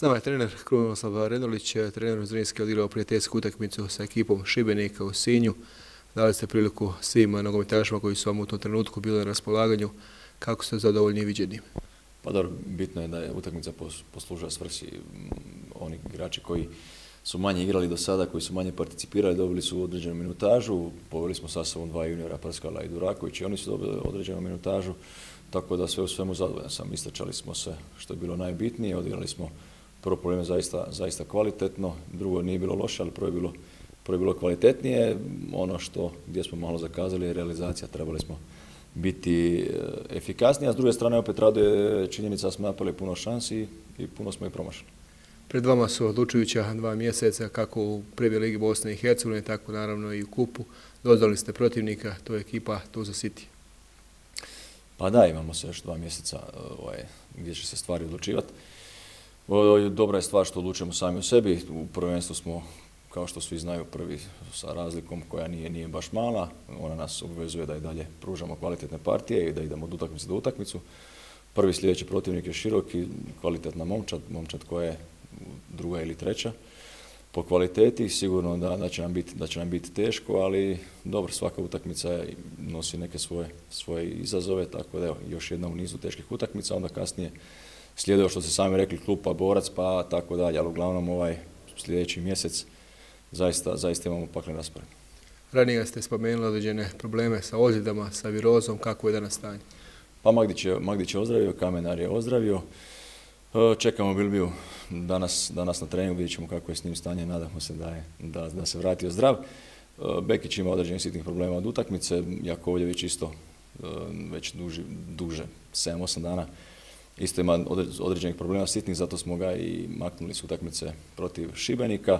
S nama je trener Krunoslav Renolić, trener Zrinski odigrao prijateljsku utakmicu sa ekipom Šibenika u Sinju. Dali ste priliku svim nogometašima koji su vam u tom trenutku bili na raspolaganju. Kako ste zadovoljni i viđeni? Pa dobro, bitno je da je utakmica poslužila svrsi. Oni igrači koji su manje igrali do sada, koji su manje participirali, dobili su određenu minutažu. Poveli smo sa sobom dva juniora, Prskala i Duraković, i oni su dobili određenu minutažu. Tako da sve u svemu zadovoljan sam. Istračali smo se što je bilo najbitnije, odigrali smo prvo probleme zaista kvalitetno, drugo nije bilo loše, ali prvo je bilo kvalitetnije. Ono gdje smo malo zakazali je realizacija, trebali smo biti efikasniji, a s druge strane opet raduje činjenica da smo napravili puno šansi i puno smo ih promašili. Pred vama su odlučujuća 2 mjeseca, kako u Prvoj ligi Bosne i Hercegovine, tako naravno i u kupu. Doznali ste protivnika, to je ekipa Tuzla City. Pa da, imamo se još 2 mjeseca gdje će se stvari odlučivati. Dobra je stvar što odlučujemo sami u sebi. U prvenstvu smo, kao što svi znaju, prvi sa razlikom koja nije baš mala. Ona nas obvezuje da i dalje pružamo kvalitetne partije i da idemo od utakmice do utakmicu. Prvi sljedeći protivnik je široki, kvalitetna momčad koja je druga ili treća po kvaliteti. Sigurno da će nam biti teško, ali dobro, svaka utakmica nosi neke svoje izazove, tako da evo, još jedna u nizu teških utakmica, onda kasnije slijedeo što ste sami rekli, klub pa borac pa tako dalje, ali uglavnom sljedeći mjesec zaista imamo paklen raspored. Ranije ste spomenuli određene probleme sa ozljedama, sa virozom, kako je danas stanje? Pa Magdić je ozdravio, Kamenar je ozdravio. Čekamo Bilbiju danas na treningu, vidjet ćemo kako je s njim stanje, nadamo se da se vratio zdrav. Bekić ima određenih sitnih problema od utakmice, Jakovljević isto već duže, 7-8 dana, isto ima određenih problema sitnih, zato smo ga i maknuli s utakmice protiv Šibenika.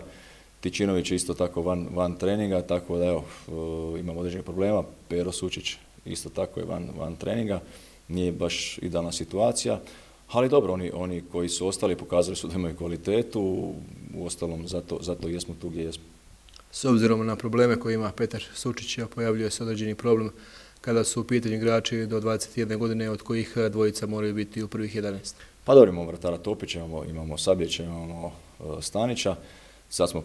Tičinović je isto tako van treninga, tako da evo, imamo određenih problema. Pero Sučić isto tako je van treninga, nije baš idealna situacija. Ali dobro, oni koji su ostali pokazali su da imaju kvalitetu, uostalom zato jesmo tu gdje jesmo. S obzirom na probleme koje ima Petar Sučić, pojavljuje se određeni problem kada su u pitanju igrači do 21 godine, od kojih dvojica moraju biti u prvih 11. Pa dobro, imamo vratara Topića, imamo Sabljića, imamo Stanića, sad smo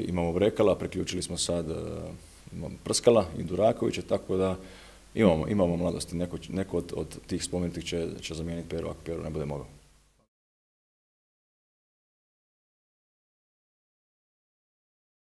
imamo Brekala, priključili smo sad Prskala i Durakovića, tako da imamo mladosti, neko od tih spomenutih će zamijeniti Peru ako Peru ne bude mogao.